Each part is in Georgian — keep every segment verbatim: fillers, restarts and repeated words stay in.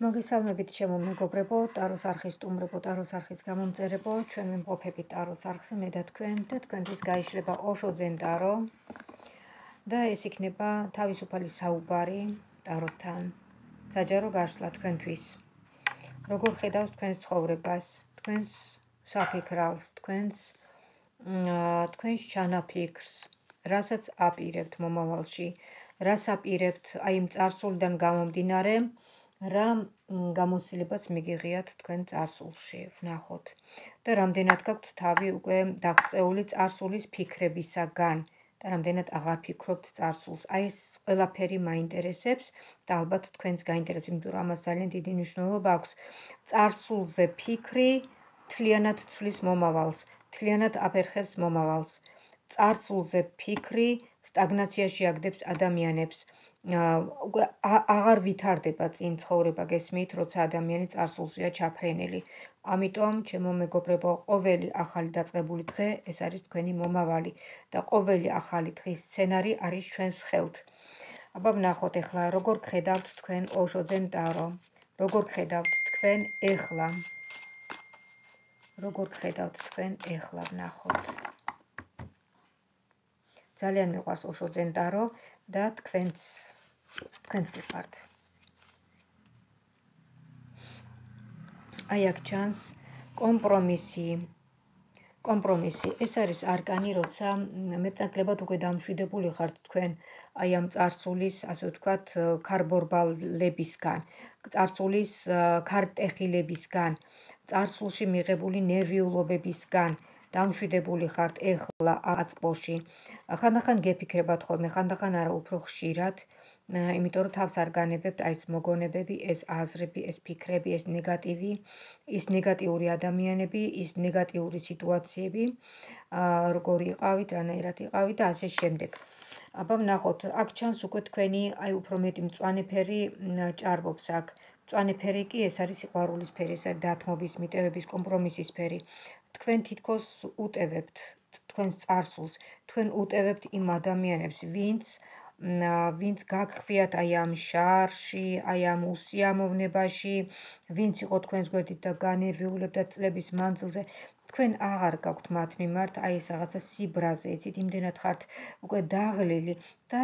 მოგესალმებით ჩემო მეგობრებო, ტაროს არხის სტუმრებო, ტაროს არხის გამომწერებო, ჩვენ ვიმყოფებით ტაროს არხზე მე და თქვენ და თქვენთვის გაიშლება ოშო ძენ ტარო და ეს იქნება თავისუფალი საუბარი ტაროსთან, საჯარო გაშლა თქვენთვის. როგორ ხედავს თქვენს ცხოვრებას, თქვენს საფიქრალს, თქვენს თქვენს ჩანაფიქრს, რასაც აპირებთ მომავალში, რას აპირებთ აი იმ წარსულიდან გამომდინარე, რა გამოცდილებას მიგიღიათ თქვენ წარსულში, ვნახოთ და რამდენად გაქვთ თავი უკვე დაღწეული წარსულის ფიქრებისაგან და რამდენად აღარ ფიქრობთ წარსულს. აი ეს ყველაფერი მაინტერესებს და ალბათ თქვენს გაინტერესებს, იმიტომ რომ ამას ძალიან დიდი მნიშვნელობა აქვს. წარსულზე ფიქრი მთლიანად ცვლის მომავალს, მთლიანად აფერხებს მომავალს. წარსულზე ფიქრი სტაგნაციაში აგდებს ადამიანებს. უკვე აღარ ვითარდება წინ ცხოვრება, გესმით, როცა ადამიანი წარსულზეა ჩაფრენილი. ამიტომ, ჩემო მეგობრებო, ყოველი ახალი დაწყებული დღე ეს არის თქვენი მომავალი და ყოველი ახალი დღის სცენარი არის ჩვენს ხელთ. აბა ვნახოთ ახლა, როგორ გხედავთ თქვენ ოშო ძენ ტარო, როგორ გხედავთ თქვენ ეხლა. როგორ გხედავთ თქვენ ეხლა, ვნახოთ. ძალიან მიყვარს ოშო ძენ ტარო და თქვენც თქვენც გიყვართ. აი აქ ჩანს კომპრომისი. კომპრომისი. ეს არის არკანი, როცა მეტნაკლებად უკვე დამშვიდებული ხართ თქვენ აი ამ წარსულის, ასე ვთქვათ, ქარბორბალებისგან, წარსულის ქარტეხილებისგან, წარსულში მიღებული ნერვიულობებისგან. დამშვიდებული ხართ ეხლა აწყოში. ხანდახან გეფიქრებათ ხოლმე, ხანდახან არა, უფრო ხშირად, იმიტომ რომ თავს არ განებებთ აი ეს მოგონებები, ეს აზრები, ეს ფიქრები, ეს ნეგატივი, ის ნეგატიური ადამიანები, ის ნეგატიური სიტუაციები, როგორი იყავით, რანაირად იყავით და ასე შემდეგ. აბა ვნახოთ, აქ ჩანს უკვე თქვენი აი უფრო მეტი მწვანე ფერი ჭარბობს აქ. მწვანე ფერი კი ეს არის სიყვარულის ფერი, ეს არის დათმობის, მიტევების, კომპრომისის ფერი. თქვენ თითქოს უტევებთ თქვენს წარსულს, თქვენ უტევებთ იმ ადამიანებს, ვინც ვინც გაგხვიათ აი ამ შარში, აი ამ უსიამოვნებაში, ვინც იყო თქვენს გვერდით და განერვიულებდა წლების მანძილზე, თქვენ აღარ გაქვთ მათ მიმართ აი ეს რაღაცა სიბრაზე, იცით, იმდენად ხართ უკვე დაღლილი და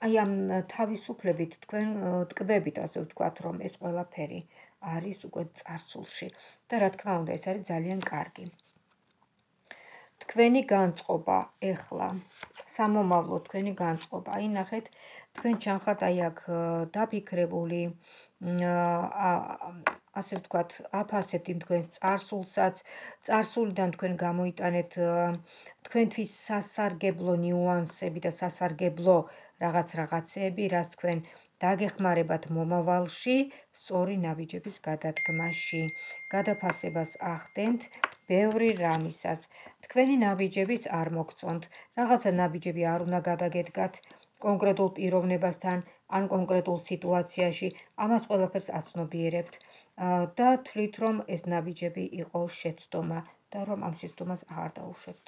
აი ამ თავისუფლებით თქვენ ტკბებით, ასე ვთქვათ, რომ ეს ყველაფერი არის უკვე წარსულში და რა თქმა უნდა, ეს არის ძალიან კარგი. თქვენი განწყობა ეხლა, სამომავლო თქვენი განწყობა, აი ნახეთ, თქვენ ჩანხართ აი აქ დაფიქრებული, ასე ვთქვათ, აფასებთ იმ თქვენს წარსულსაც, წარსულიდან თქვენ გამოიტანეთ თქვენთვის სასარგებლო ნიუანსები და სასარგებლო რაღაც რაღაცეები, რაც თქვენ დაგეხმარებათ მომავალში, სწორი ნაბიჯების გადადგმაში. გადაფასებას ახდენთ ბევრი რამისას. თქვენი ნაბიჯებიც არ მოგწონთ, რაღაცა ნაბიჯები არ უნდა გადაგედგათ კონკრეტულ პიროვნებასთან ან კონკრეტულ სიტუაციაში, ამას ყველაფერს აცნობიერებთ და თვლით, რომ ეს ნაბიჯები იყო შეცდომა და რომ ამ შეცდომას აღარ დაუშვებთ.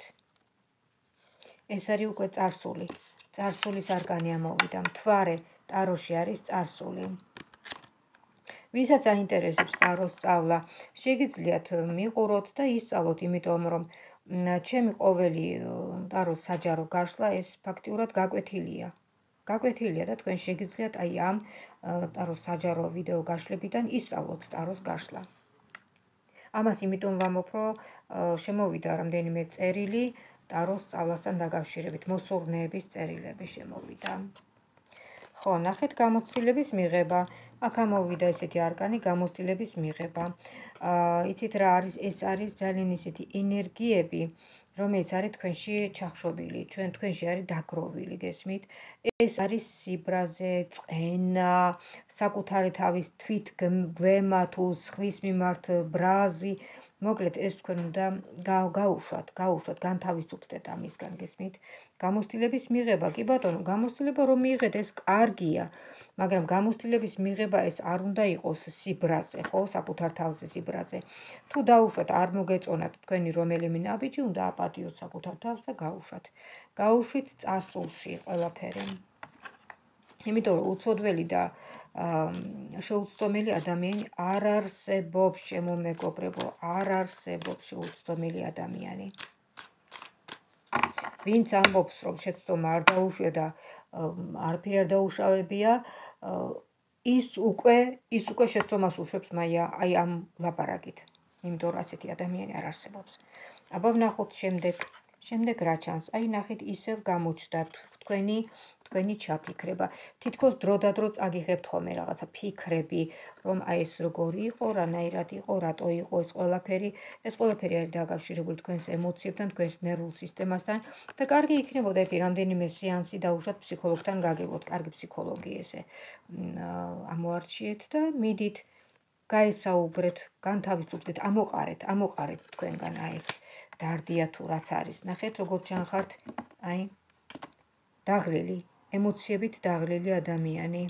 ეს არის უკვე წარსული. წარსულის არკანი ამოვიდა. მთვარე ტაროში არის წარსული. ვისაც აინტერესებს ტაროს სწავლა, შეგიძლიათ მიყუროთ და ისწავლოთ, იმიტომ რომ ჩემი ყოველი ტაროს საჯარო გაშლა ეს ფაქტიურად გაკვეთილია. გაკვეთილია და თქვენ შეგიძლიათ აი ამ ტაროს საჯარო ვიდეო გაშლებიდან ისწავლოთ ტაროს გაშლა. ამას იმიტომ ვამბობ, რომ შემოვიდა რამდენიმე წერილი ტაროს სწავლასთან დაკავშირებით, მოსურნეების წერილები შემოვიდა. ხო, ნახეთ გამოცდილების მიღება. აქ ამოვიდა ესეთი არკანი, გამოცდილების მიღება. იცით რა არის, ეს არის ძალიან ისეთი ენერგიები, რომელიც არის თქვენში ჩახშობილი, ჩვენ თქვენში არის დაგროვილი, გესმით? ეს არის სიბრაზე, წყენა, საკუთარი თავის თვითგვემა თუ სხვის მიმართ ბრაზი. მოკლედ, ეს თქვენ უნდა გაუშვათ, გაუშვათ, განთავისუფლდეთ ამისგან, გესმით? გამოცდილების მიღება, კი ბატონო, გამოცდილება რომ მიიღეთ, ეს კარგია, მაგრამ გამოცდილების მიღება ეს არ უნდა იყოს სიბრაზე, ხო, საკუთარ თავზე სიბრაზე. თუ დაუშვათ, არ მოგეწონათ თქვენი რომელიმე ნაბიჯი, უნდა აპატიოთ საკუთარ თავს და გაუშვათ. გაუშვით წარსულში ყველაფერი. იმიტომ რომ უცოდველი და შეუცდომელი ადამიანი არ არსებობს, შემომეგობრებო, არ არსებობს შეუცდომელი ადამიანი. ვინც ამბობს, რომ შეცდომა არ დაუშვია და არაფერი არ დაუშავებია, ის უკვე ის უკვე შეცდომას უშვებს აი ამ ლაპარაკით. იმიტომ რომ ასეთი ადამიანი არ არსებობს. აბა ვნახოთ შემდეგ. შემდეგ რა ჩანს? აი ნახეთ, ისევ გამოჩნდა თქვენი თქვენი ჩაფიქრება. თითქოს დრო და დრო წაგიღებთ ხოლმე რაღაცა ფიქრები, რომ აი ეს როგორი იყო, რანაირად იყო, რატო იყო ეს ყველაფერი. ეს ყველაფერი არის დაკავშირებული თქვენს ემოციებთან, თქვენს ნერვულ სისტემასთან და კარგი იქნებოდა ერთი რამდენიმე სეანსი დაუშვათ ფსიქოლოგთან გაგებოთ, კარგი ფსიქოლოგი ესე ამოარჩიეთ და მიდით გაესაუბრეთ, განთავისუფლდეთ, ამოყარეთ, ამოყარეთ თქვენგან აი ეს დარდია თუ რაც არის. ნახეთ როგორ ჩანხართ, აი დაღლილი, ემოციებით დაღლილი ადამიანი.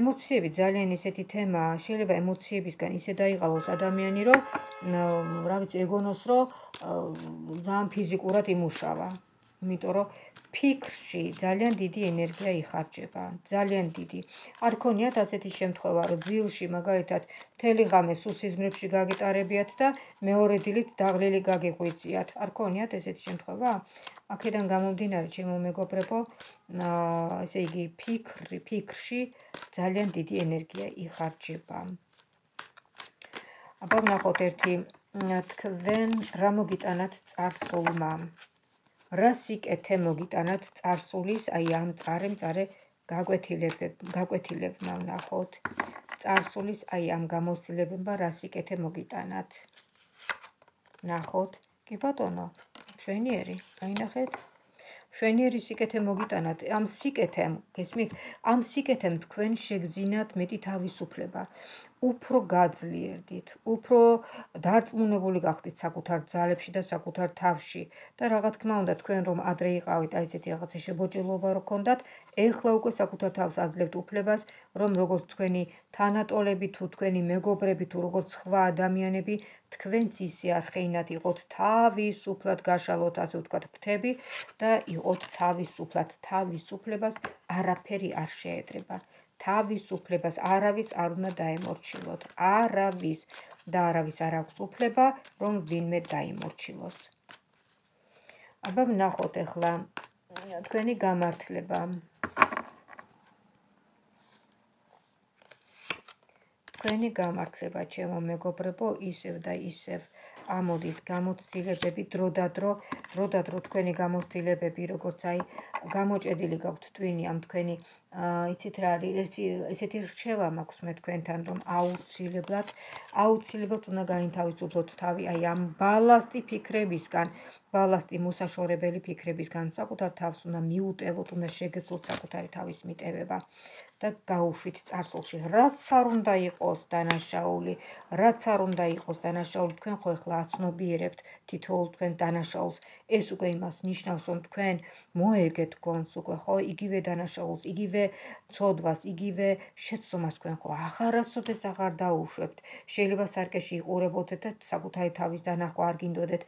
ემოციები ძალიან ისეთი თემაა, შეიძლება ემოციებისგან ისე დაიღალოს ადამიანი, რომ რა ვიცი, ეგონოს, რომ ძალიან ფიზიკურად იმუშავა. იმიტომ რომ ფიქრში ძალიან დიდი ენერგია იხარჯება, ძალიან დიდი. არ ქონიათ ასეთი შემთხვევა, რომ ძილში მაგალითად მთელი ღამე სუსიზმრებში გაგიტარებიათ და მეორე დილით დაღლილი გაგიღვიძიათ. არ ქონიათ ესეთი შემთხვევა? აქედან გამომდინარე, ჩემო მეგობრებო, ესე იგი ფიქრი, ფიქრში ძალიან დიდი ენერგია იხარჯება. აბა ვნახოთ ერთი, თქვენ რა მოგიტანათ წარსულმა? რა სიკეთე მოგიტანათ წარსულის, აი ამ წარე-მწარე გაკვეთილებმა ვნახოთ. წარსულის აი ამ გამოცდილებებმა რა სიკეთე მოგიტანათ? ნახოთ, კი ბატონო, მშვენიერი, აი ნახეთ. მშვენიერი სიკეთე მოგიტანათ. ამ სიკეთემ, გესმით? ამ სიკეთემ თქვენ შეგძინათ მეტი თავისუფლება. უფრო გაძლიერდით, უფრო დარწმუნებული გახდით საკუთარ ძალებში და საკუთარ თავში და რა თქმა უნდა თქვენ რომ ადრე იყავით აი ესეთი რაღაცა შებოჭილობა რო გქონდათ, ეხლა უკვე საკუთარ თავს აძლევთ უფლებას, რომ როგორც თქვენი თანატოლები თუ თქვენი მეგობრები თუ როგორც სხვა ადამიანები, თქვენც ისე არხეინად იყოთ თავისუფლად გაშალოთ, ასე ვთქვათ, ფრთები და იყოთ თავისუფლად. თავისუფლებას არაფერი არ შეედრება. თავისუფლებას არავის არ უნდა დაემორჩილოთ. არავის და არავის არ აქვს უფლება, რომ ვინმე დაიმორჩილოს. აბა ვნახოთ ახლა თქვენი გამართლება. თქვენი გამართლება, ჩემო მეგობრებო, ისევ და ისევ ამოდის გამოცდილებები დრო და დრო, დრო და დრო თქვენი გამოცდილებები, როგორც აი გამოჭედილი გაქვთ ტვინი ამ თქვენი, იცით რა არის, ესეთი რჩევა მაქვს მე თქვენთან, რომ აუცილებლად, აუცილებლად უნდა გაინთავისუფლოთ თავი აი ამ ბალასტი ფიქრებისგან, ბალასტი მოსაშორებელი ფიქრებისგან, საკუთარ თავს უნდა მიუტევოთ, უნდა შეგეძლოთ საკუთარი თავის მიტევება და გაუშვით წარსულში, რაც არ უნდა იყოს დანაშაული, რაც არ უნდა იყოს დანაშაული, თქვენ ხო ეხლა აცნობიერებთ თითოეულ თქვენ დანაშაულს, ეს უკვე იმას ნიშნავს, რომ თქვენ მოეგეთ გონს უკვე ხო, იგივე დანაშაულს, იგივე ცოდვას, იგივე შეცდომას თქვენ ხო აღარასოდეს აღარ დაუშვებთ. შეიძლება სარკეში იყურებოდეთ და საკუთარი თავის დანახვა არ გინდოდეთ,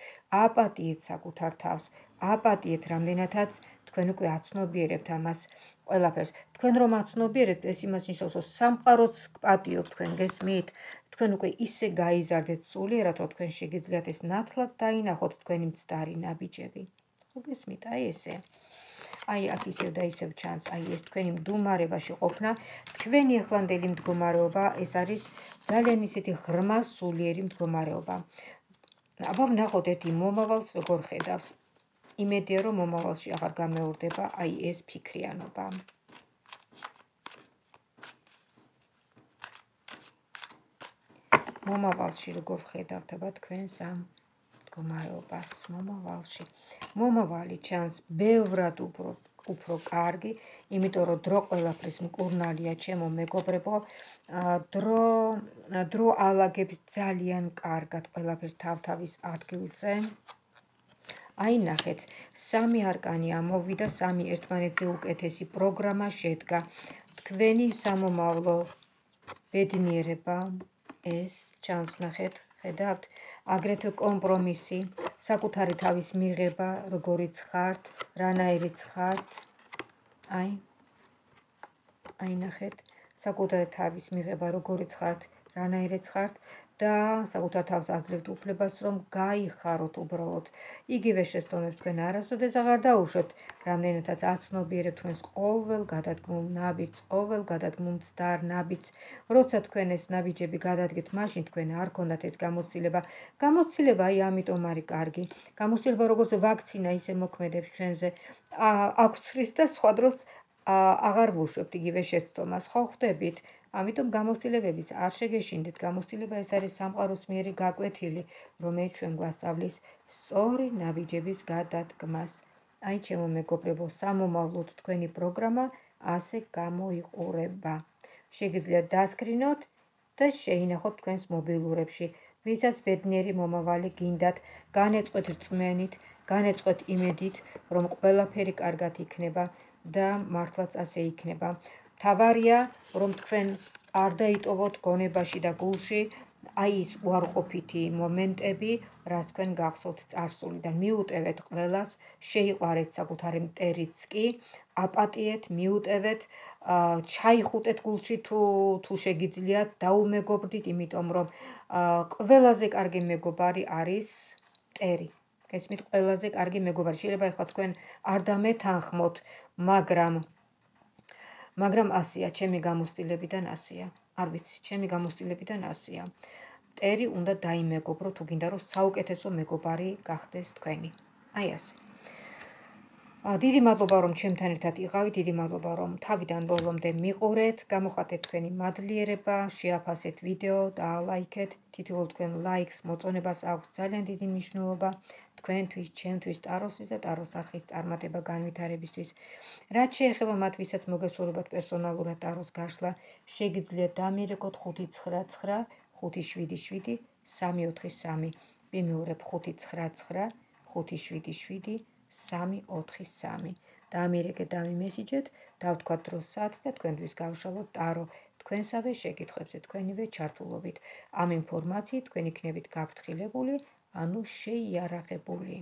აპატიეთ საკუთარ თავს, აპატიეთ რამდენადაც თქვენ უკვე აცნობიერებთ ამას ყველაფერს. თქვენ რომ აცნობიერებთ, ეს იმას ნიშნავს, რომ სამყაროც გპატიობთ თქვენ, გესმით? თქვენ უკვე ისე გაიზარდეთ სულიერად, რომ თქვენ შეგიძლიათ ეს ნათლად დაინახოთ თქვენი მცდარი ნაბიჯები. ხო გესმით? აი ესე. აი აქ ისევ და ისევ ჩანს, აი ეს თქვენი მდგომარეობაში ყოფნა, თქვენი ახლანდელი მდგომარეობა, ეს არის ძალიან ისეთი ღრმა სულიერი მდგომარეობა. აბა ვნახოთ ერთი მომავალს როგორ ხედავს. იმედია რომ მომავალში აღარ გამეორდება აი ეს ფიქრიანობა. მომავალში როგორ ხედავთ აბა თქვენს ამ მდგომარეობას მომავალში. მომავალი ჩანს ბევრად უფრო უფრო კარგი, იმიტომ რომ დრო ყველაფრის მკურნალია, ჩემო მეგობრებო, დრო დრო ალაგებს ძალიან კარგად ყველაფერს თავთავის ადგილზე. აი ნახეთ, სამი არკანი ამოვიდა, სამი ერთმანეთზე უკეთესი პროგრამა შედგა. თქვენი სამომავლო ბედნიერება, ეს ჩანს ნახეთ, ხედავთ, აგრეთვე კომპრომისი, საკუთარი თავის მიღება, როგორიც ხართ, რანაირიც ხართ. აი, აი ნახეთ, საკუთარი თავის მიღება როგორიც ხართ, რანაირიც ხართ და საკუთარ თავს აძლევთ უფლებას, რომ გაიხაროთ უბრალოდ. იგივე შეცდომებს თქვენ არასოდეს აღარ დაუშვებთ, რამდენადაც აცნობიერებთ თქვენს ყოველ გადადგმულ ნაბიჯს, ყოველ გადადგმულ მცდარ ნაბიჯს. როცა თქვენ ეს ნაბიჯები გადადგეთ, მაშინ თქვენ არ გქონდათ ეს გამოცდილება. გამოცდილება აი ამიტომ არის კარგი. გამოცდილება როგორც ვაქცინა ისე მოქმედებს ჩვენზე. აქვცრის და სხვა დროს აღარ ვუშვებთ იგივე შეცდომას, ხო ხვდებით? ამიტომ გამოცდილებების არ შეგეშინდეთ. გამოცდილება ეს არის სამყაროს მიერი გაკვეთილი, რომელიც ჩვენ გვასწავლის სწორი ნაბიჯების გადადგმას. აი ჩემო მეგობრებო, სამომავლოდ თქვენი პროგრამა ასე გამოიყურება. შეგიძლიათ დასკრინოთ და შეინახოთ თქვენს მობილურებში. ვისაც ბედნიერი მომავალი გინდათ, განეწყვეთ რწმენით, განეწყვეთ იმედით, რომ ყველაფერი კარგად იქნება და მართლაც ასე იქნება. თავარია, რომ თქვენ არ დაიტოვოთ გონებაში და გულში აი ის უარყოფითი მომენტები, რაც თქვენ გახსოვთ წარსულიდან. მიუტევეთ ყველას, შეიყვარეთ საკუთარი მტერიც კი, აპატიეთ, მიუტევეთ, ჩაიხუტეთ გულში თუ თუ შეგიძლიათ, დაუმეგობრდით, იმიტომ რომ ყველაზე კარგი მეგობარი არის მტერი. გესმით, ყველაზე კარგი მეგობარი. შეიძლება ეხლა თქვენ არ დამეთანხმოთ, მაგრამ მაგრამ ასია, ჩემი გამოცდილებიდან ასია. არ ვიცი, ჩემი გამოცდილებიდან ასია. მტერი უნდა დაიმეგობრო თუ გინდა რომ საუკეთესო მეგობარი გახდეს თქვენი. აი ასე. დიდი მადლობა რომ ჩემთან ერთად იყავით, დიდი მადლობა რომ თავიდან ბოლომდე მიყურეთ, გამოხატეთ თქვენი მადლიერება, შეაფასეთ ვიდეო და ლაიქეთ. თითოეულ თქვენ ლაიქს მოწონებას აქვს ძალიან დიდი მნიშვნელობა თქვენთვის, ჩემთვის, ტაროსთვის და ტაროს არხის წარმატება განვითარებისთვის. რაც შეეხება მათ, ვისაც მოგესურვებათ პერსონალურად ტაროს გაშლა, შეგიძლიათ დამირეკოთ ხუთი ცხრა ცხრა ხუთი შვიდი შვიდი სამი ოთხი სამი. ვიმეორებ ხუთი ცხრა ცხრა ხუთი შვიდი შვიდი სამი ოთხი სამი. დამირეკეთ, დამიმესიჯეთ, დავთქვათ დროს საათი და თქვენთვის გავშალოთ ტარო. თქვენსავე შეკითხვებზე თქვენივე ჩართულობით. ამ ინფორმაციით თქვენ იქნებით გაფრთხილებული, ანუ შეიარაღებული.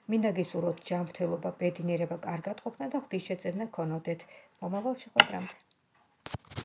მინდა გისურვოთ ჯანმრთელობა, ბედნიერება, კარგად ყოფნა და ღვთისშეწირნა გქონოდეთ. მომავალ შეხვედრამდე.